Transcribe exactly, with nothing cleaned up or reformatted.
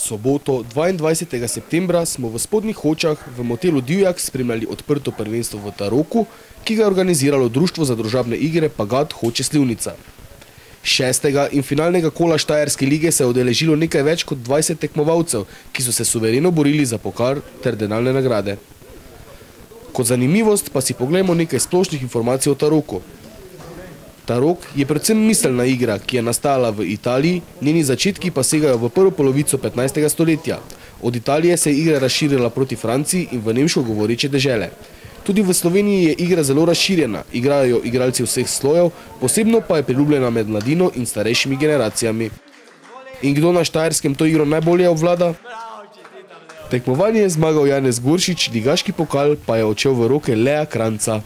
soboto, dvaindvajsetega septembra, smo v Spodnjih Hočah v motelu Divjak spremljali odprto prvenstvo v Taroku, ki ga je organiziralo Društvo za družabne igre Pagat Hoče Slivnica. Šestega in finalnega kola Štajerske lige se je udeležilo nekaj več kot dvajset tekmovalcev, ki so se suvereno borili za pokal ter denarne nagrade. Kot zanimivost pa si poglejmo nekaj splošnih informacij o Taroku. Tarok je predvsem miselna igra, ki je nastala v Italiji, njeni začetki pa segajo v prvo polovico petnajstega stoletja. Od Italije se je igra razširila proti Franciji in v nemško govoreče dežele. Tudi v Sloveniji je igra zelo razširjena, igrajo jo igralci vseh slojev, posebno pa je priljubljena med mladino in starejšimi generacijami. In kdo na Štajerskem to igro najbolje obvlada? Tekmovanje je zmagal Janez Goršič, ligaški pokal pa je odšel v roke Leja Kranjca.